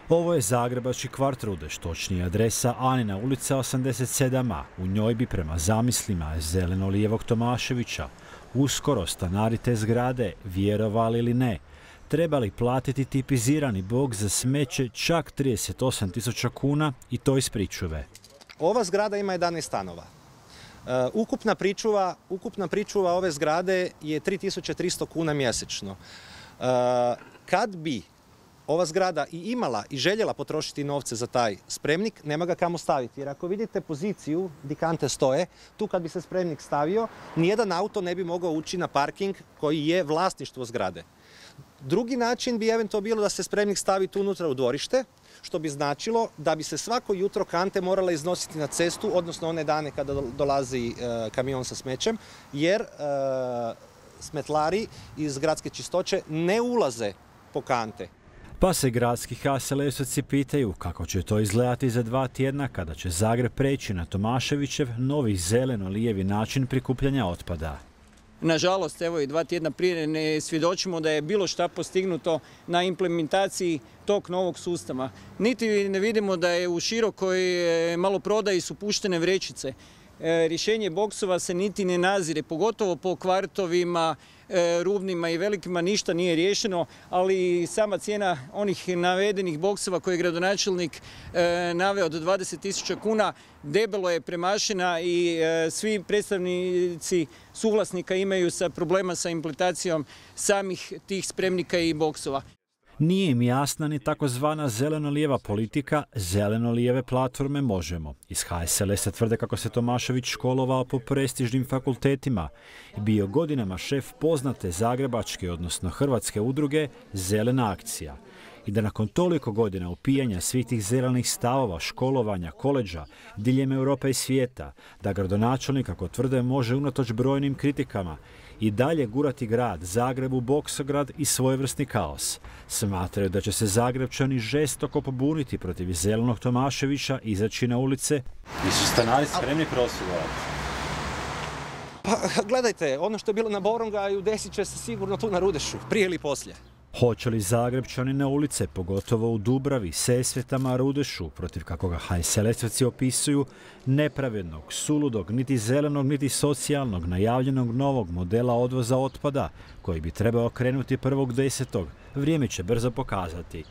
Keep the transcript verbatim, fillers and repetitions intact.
Ovo je zagrebački kvart Rudeš, točnije adresa Anina ulica osamdeset sedam a. U njoj bi prema zamislima zeleno-lijevog Tomaševića uskoro stanari te zgrade, vjerovali ili ne, trebali platiti tipizirani boks za smeće čak trideset osam tisuća kuna i to iz pričuve. Ova zgrada ima jedanaest stanova. Uh, ukupna pričuva, ukupna pričuva ove zgrade je tri tisuće tristo kuna mjesečno. Uh, kad bi ova zgrada i imala i željela potrošiti novce za taj spremnik, nema ga kamo staviti. Jer ako vidite poziciju di kante stoje, tu kad bi se spremnik stavio, nijedan auto ne bi mogao ući na parking koji je vlasništvo zgrade. Drugi način bi eventualno bilo da se spremnik stavi tu unutra u dvorište, što bi značilo da bi se svako jutro kante morala iznositi na cestu, odnosno one dane kada dolazi e, kamion sa smećem, jer e, smetlari iz gradske čistoće ne ulaze po kante. Pa se gradski ha es el esovci pitaju kako će to izgledati za dva tjedna kada će Zagreb preći na Tomaševićev novi zeleno-lijevi način prikupljanja otpada. Nažalost, evo i dva tjedna prije ne svjedočimo da je bilo šta postignuto na implementaciji tog novog sustava. Niti ne vidimo da je u širokoj maloprodaji su puštene vrećice. Rješenje boksova se niti ne nazire, pogotovo po kvartovima, rubnima i velikima ništa nije riješeno, ali sama cijena onih navedenih boksova koje je gradonačelnik naveo do dvadeset tisuća kuna debelo je premašena i svi predstavnici suvlasnika imaju sa problema sa implementacijom samih tih spremnika i boksova. Nije im jasna ni takozvana zeleno-lijeva politika zeleno-lijeve platforme Možemo. Iz ha es el esa tvrde kako se Tomašević školovao po prestižnim fakultetima i bio godinama šef poznate zagrebačke, odnosno hrvatske udruge Zelena akcija. I da nakon toliko godina upijanja svih tih zelenih stavova, školovanja, koleđa, diljem Europe i svijeta, da gradonačelnik, kako tvrde, može unatoč brojnim kritikama i dalje gurati grad Zagreb u boksograd i svojevrsni kaos. Smatraju da će se Zagrebčani žestoko pobuniti protiv zelenog Tomaševića i izaći na ulice. I su stanari spremni prosvjedovati? Pa gledajte, ono što je bilo na Borongaju desit će se sigurno tu na Rudešu, prije ili poslije. Hoće li Zagrebčani na ulice, pogotovo u Dubravi, Sesvetama, Rudešu, protiv kako ga ha es el esovci opisuju, nepravednog, suludog, niti zelenog, niti socijalnog, najavljenog novog modela odvoza otpada, koji bi trebao krenuti prvog desetog, vrijeme će brzo pokazati.